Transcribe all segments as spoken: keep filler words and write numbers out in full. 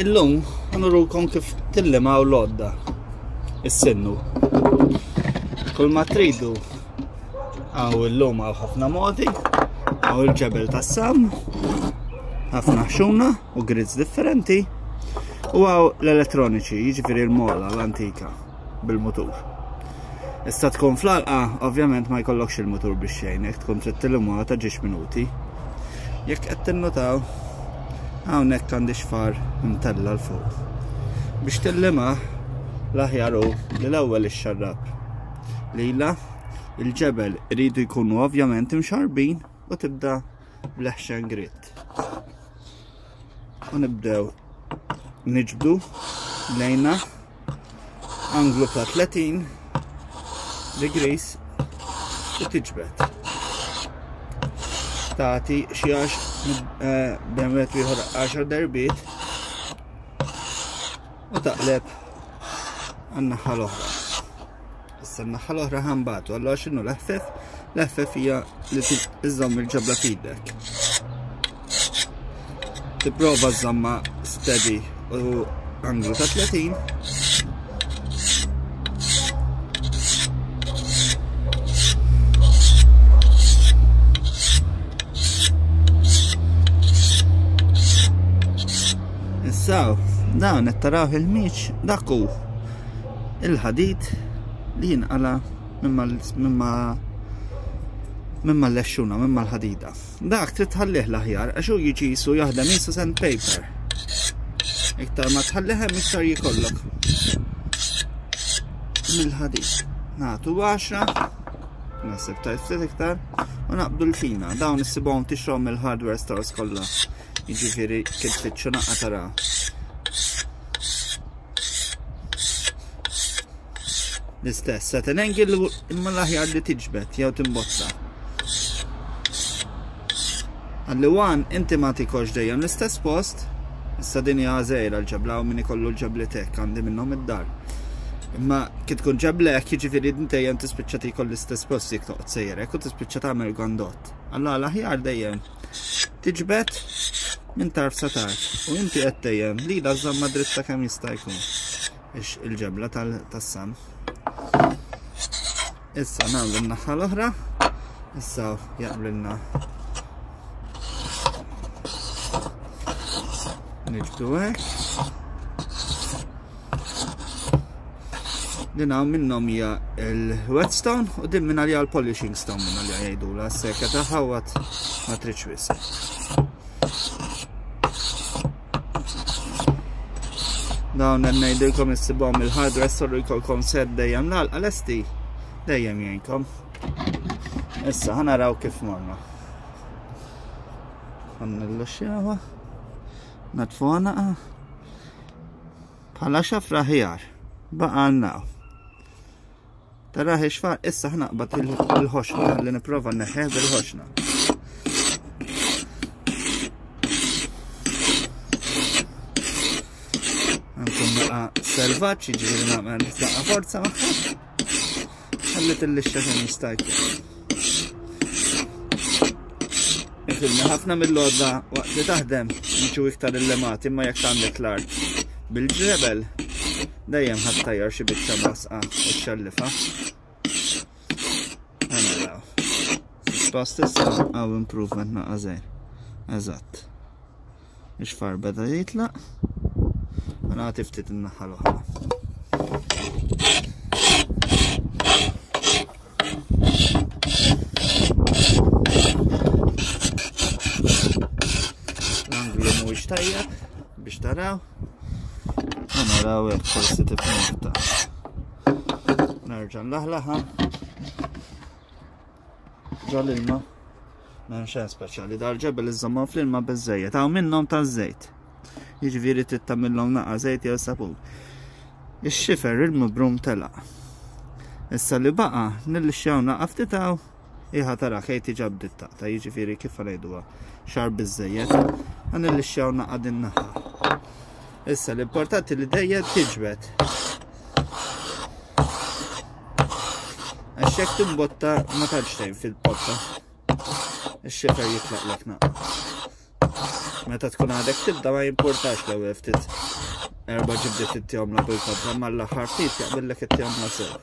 Illum ħanurukom kif tillimaw l-għodda, is-sinnu. Kull ma tridu għaw illum għaw ħafna modi, għaw il-ġebel tas-sam, ħafna ħxuna u grids differenti, u għaw l-elettroniċi, jiġifieri l-mola l-antika bil-mutur. Issa tkun fl-għalqa, ovvjament ma jkollokx il-mutur biex xejn, jekk tkun trid tillimha ta' ġiex minuti. Jekk qed tinnutaw, hawnhekk għandi xfar imtella 'l fuq. Biex tillimha l-aħjar hu li l-ewwel ixxarrab. Lila, il-ġebel iridu jkunu ovvjament imxarbin u tibda bl-eħxen grit. U nibdew niġbdu lejna anglu ta' tletin degrees u tiġbed. Tagħti xi għax bejn wieħed u ieħor għaxar darbiet u taqleb għan-naħa l-oħra. Issa n-naħa l-oħra ħanbatu, allura x'inhu l-eħfef? L-eħfef hija li iżżomm il-ġebla f'idek. Tipprova żżommha steady u anglu ta' tletin. Issa, dawn qed taraw il-miċ, dak hu il-ħadid li jinqala minn mal-lexxuna, minn mal-ħadida. Dak trid tħallih l-aħjar għax hu jiġi jisu jaħdem jisu sandpaper. Iktar ma tħallih hemm iktar jikollok mill-ħadid. Nagħtu għaxra, naħseb tajt ftit iktar, u naqbdu l-fina. Dawn issibhom tixrom mill-hardware stores kollha. Jiġifieri kif tfittxu naqqa tara. L-istess, set an angle imma l-aħjar li tiġbed jew timbotta. Għalli wan inti ma tikolx dejjem l-istess post, issa din hija żgħira l-ġebla u min ikollu l-ġeblitek għandi minnhom id-dar. Imma kif tkun ġeblek, jiġifieri dejjem tispiċċa tikol l-istess post jekk toqgħod sejrek u tispiċċa tagħmel gondott. Allura l-aħjar dejjem tiġbed minn tarf sa tarf u inti qed dejjem li la żamma dritta kemm jista' jkun ix il-ġebla tas-sam. Issa nagħmlu n-naħa l-oħra, issa jaqblilna niġbdu hekk. Din hawn minnhom hija il-whetstone u din minn għalija l-polishing stone minn għalija jgħidulha s-seka ta' ħawat ma tridx wisq. Dawn hemm ngħidilkom issibhom il-hardware store jkollkom set dejjem l-għalqa lesti dejjem jgħinkom. Issa ħa naraw kif morna. Ħa nilluxxjawha. Natfuha naqa. Bħala xafra ħjar. Baqa' għandna. Tara ixfar, issa ħnaqbad il-ħoxna li nipprova neħħeh bil-ħoxna. Għandkom naqa selvaġġ, jiġifieri nagħmel naqa forza magħha. Ħalli tillixxa kemm jista' jkun. Ifilmi ħafna mill-għodda waqt li taħdem jiġu iktar illemati, imma jekk għandek l-art bil-ġebel dejjem ħadd tajjar xi biċċa basqa u xxallifa. Naraw. Suppost issa hawn improvement naqa' żgħir. Eżatt. Ix-xfar beda jitlaq. U nagħti ftit in-naħa l-oħra. L-anglu mhuwiex tajjeb biex taraw. U naraw hekk forsi tifhem aktar. Nerġa' nlaħlaħa. Ġol ilma. M'hemm xejn speċjali, dal-ġebel iżommhom fl-ilma biżżejjed, hawn minnhom taż-żejt. Jiġifieri trid tagħmilhom naqa' żejt jew sapun. Ix-xifer il-mibrum telaq. Issa li baqa' nillixxjaw naqa' ftit hawn, iħa tara kej tiġa bdiet taqta', jiġifieri kif ngħiduha xar biżżejjed, nillixxjaw naqa' din naħa. Issa l-importanti li dejjem tiġbed. Għax jekk timbotta ma tantx tgħin fil-potta. Ix-xifer jitlaqlek naqa. Meta tkun għadek tibda ma jimpurtax l-ewwel ftit Erba' ġibdiet ittihomla bil-kontra, ma l-aħħar ftit jaqbillek ittihomla sew.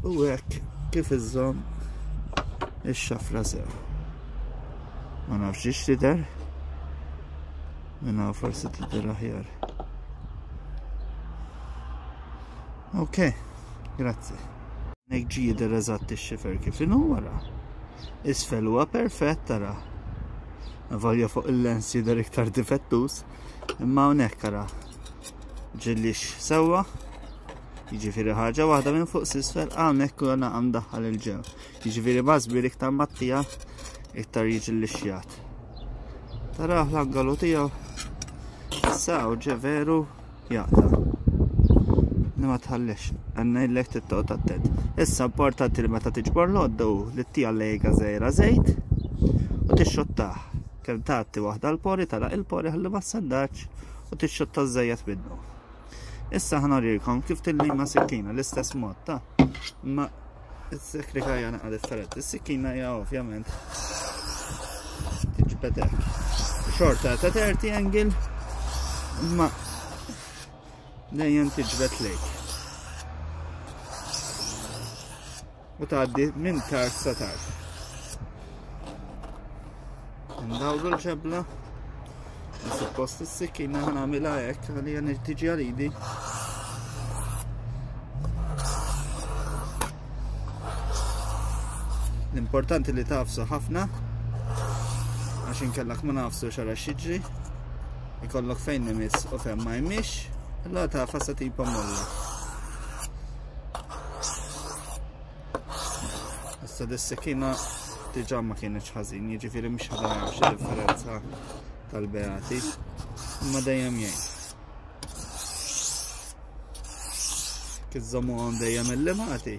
U hekk kif iżżomm ix-xafra sew. Ma nafx ix tidher. Minna forsi tidher aħjar. Ok, grazzi. Nek ġi jidher eżatt ix-xifer kif inhu wara. Isfel huwa perfett tara. Volja fuq il-lens jidher iktar difettuż, imma hawnhekk ara. Ġillix sewwa. Jiġifieri ħaġa waħda minn fuq s'isfel hawnhekk u għana daħħal il-ġew. Jiġifieri mażbir iktar mattija iktar jiġi l-xjat. Taraħ l-angalu tiegħu. Issa hawn ġe veru jaqta'. Li ma tħallix, għandna tittoqgħod attent. Issa importanti li meta tiġbor l-għodda hu li ttija lejga żgħira żejt u tixxottah. Kemm tagħti waħda l-pori tara il-pori ħalli ma ssandax u tixxotta żejjed minnu. Issa ħanorilkom kif tillima sikkina l-istess mod ta' imma is-sekrika hija naqa' differenti. Is-sikkina hija ovvjament tiġbed hekk. Xorta ta' thirty angle imma dejjem tiġbed lejk. U tgħaddi minn tarf sa tarf. Ndawru l-ġebla. Suppost is-sikkina ħanagħmilha hekk għalija tiġi għal idi. L-importanti li tafsu ħafna għax inkellek ma nafsu xara xiġri. Ikollok fejn imiss u fejn ma jmix, allura tafa sa tipa molla. Issa dis-sikkina diġà ma kienx ħażin, jiġifieri mhux ħadha xi differenza tal-beati, imma dejjem jgħin. Kif żommuhom dejjem il-limati.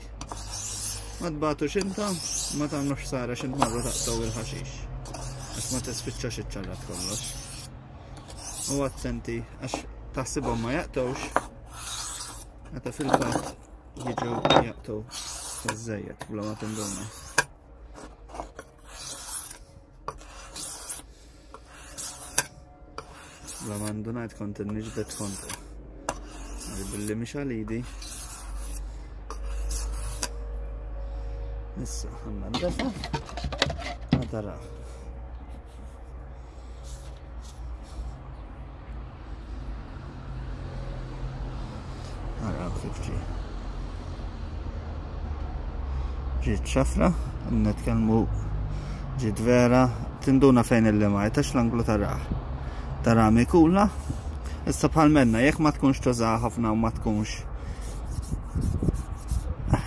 Ma tbatux intom, ma tagħmlux ħsara x'int marru taqtgħu il-ħaxix. Għax ma tispiċċax iċċarrat kollox. U attenti għax taħsibhom ma jaqtgħux, meta fil-fatt jiġu jaqtgħu iż-żejjed bla ma tinduna. Bla ma ndunajt kont inniġbed kontra. Billi mhix għalidi. Issa ħanna ndefa. Ma taraw. Araw kif ġie. Ġiet xafra, nitkellmu ġiet vera, tinduna fejn il-limajt għax l-anglu taraħ. Tara mikula. Issa bħal menna, jekk ma tkunx tużaha ħafna u ma tkunx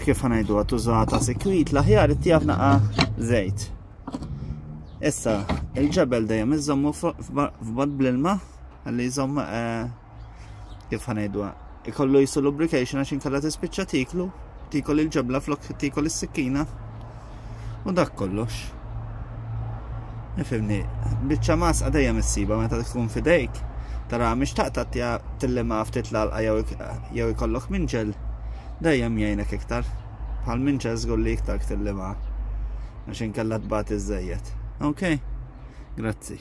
kif ħanajdu tużaha ta' sikwit, l-aħjar ittija f'naqa żejt. Issa il-ġebel dejjem iżommu f'bad bl-ilma ħalli jżomm kif ħanajdu ikollu jisu lubrication għax inkella tispiċċa tiklu, tikol il-ġebla flok tikol is-sikkina u dak kollox. Ifimni, biċċa masqa dejjem issiba meta tkun fidejk. Tara mhix taqta' tillima ftit l-għalqa jew ikollok minġel, dejjem jgħinek iktar. Bħal minġel żgur li iktar tillima għax inkella tbati żejjed. Ok, grazzi.